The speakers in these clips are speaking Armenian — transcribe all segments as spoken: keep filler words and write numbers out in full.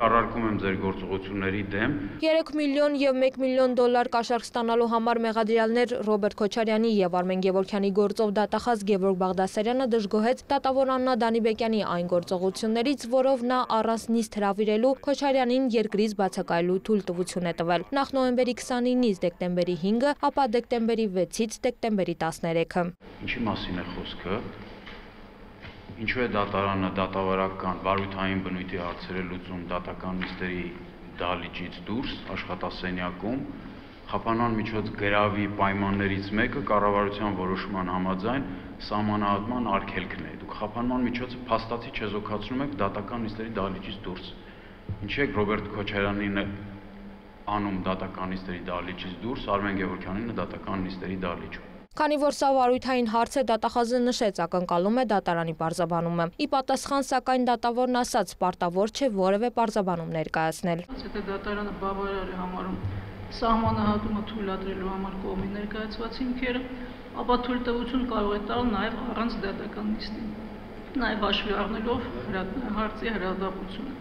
Առարկում եմ ձեր գործողությունների դեմ։ երեք միլիոն և մեկ միլիոն դոլար կաշառք ստանալու համար մեղադրյալներ Ռոբերտ Քոչարյանի և Արմեն Գևորգյանի գործով դատախազ Գևորգ Բաղդասարյանը դժգոհեց դատավոր Աննա Դանիբեկյանի այն գործողություններից, որով նա առանց նիստ հրավիրելու Քոչարյանին երկրից բացակայելու թույլտվություն է տվել։ Նախ նոյեմբերի քսանինից դեկտեմբերի հինգը, ապա դեկտեմբերի վեցից դեկտեմբերի տասներեքը։ Ինչի մասին է խոսքը։ Ինչու է դատարանը դատավարական վարույթային բնույթի հարցերը լուծում դատական նիստերի դահլիճից դուրս աշխատասենյակում, խափանման միջոց գրավի պայմաններից մեկը կառավարության որոշման համաձայն սահմանահատման արգելքն է։ Դուք խափանման միջոցը փաստացի չեզոքացնում եք դատական նիստերի դահլիճից դուրս։ Ինչի եք Ռոբերտ Քոչարյանին անում դատական նիստերի դահլիճից դուրս, Արմեն Գևորգյանին դատական նիստերի դահլիճում։ Քանի որ սա վարույթային հարց է, դատախազը նշեց ակնկալում է դատարանի պարզաբանումը։ Ի պատասխան, սակայն դատավորն ասաց, պարտավոր չէ որևէ պարզաբանում ներկայացնել։ Եթե դատարանը բավարար է համարում սահմանահատումը թույլատրելու համար կողմի ներկայացված հիմքերը, ապա թույլտվություն կարող է տալ նաև առանց դատական նիստի, նաև հաշվի առնելով հարցի հրադապությունը։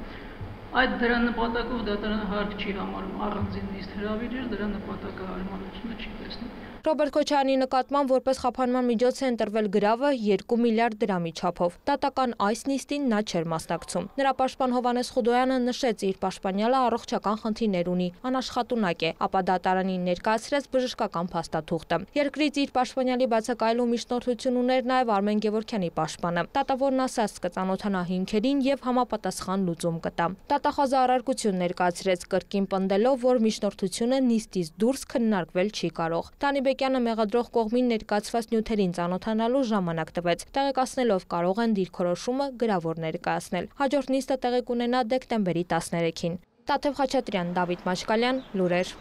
Այդ դրա նպատակով դատարանը հարկ չի համարում առանձին նիստ հրավիրել, դրա նպատակը հարմարությունը չի տեսնում։ Ռոբերտ Քոչարյանի նկատմամբ որպես խափանման միջոց է ընտրվել գրավը երկու միլիարդ դրամի չափով։ Դատական այս նիստին նա չէր մասնակցում։ Նրա պաշտպան Հովհաննես Խուդոյանը նշեց, իր պաշտպանյալը առողջական խնդիրներ ունի, անաշխատունակ է, ապա դատարանին ներկայացրեց բժշկական փաստաթուղթը։ Երկրից իր պաշտպանյալի բացակայելու միջնորդություն ուներ նաև Արմեն Գևորգյանի պաշտպանը։ Դատավորն ասաց կծանոթանա հիմքերին և համապատասխան լուծում կտա։ Դատախազը առարկություն ներկայացրեց, կրկին պնդելով, որ միջնորդությունը նիստից դուրս քննարկվել չի կարող։ Դանիբեկյանը մեղադրող կողմին ներկայացված նյութերին ծանոթանալու ժամանակ տվեց, տեղեկացնելով կարող են դիրքորոշումը գրավոր ներկայացնել։ Հաջորդ նիստը տեղի կունենա դեկտեմբերի տասներեքին։ Տաթև Խաչատրյան, Դավիթ Մաշկալյան, լուրեր։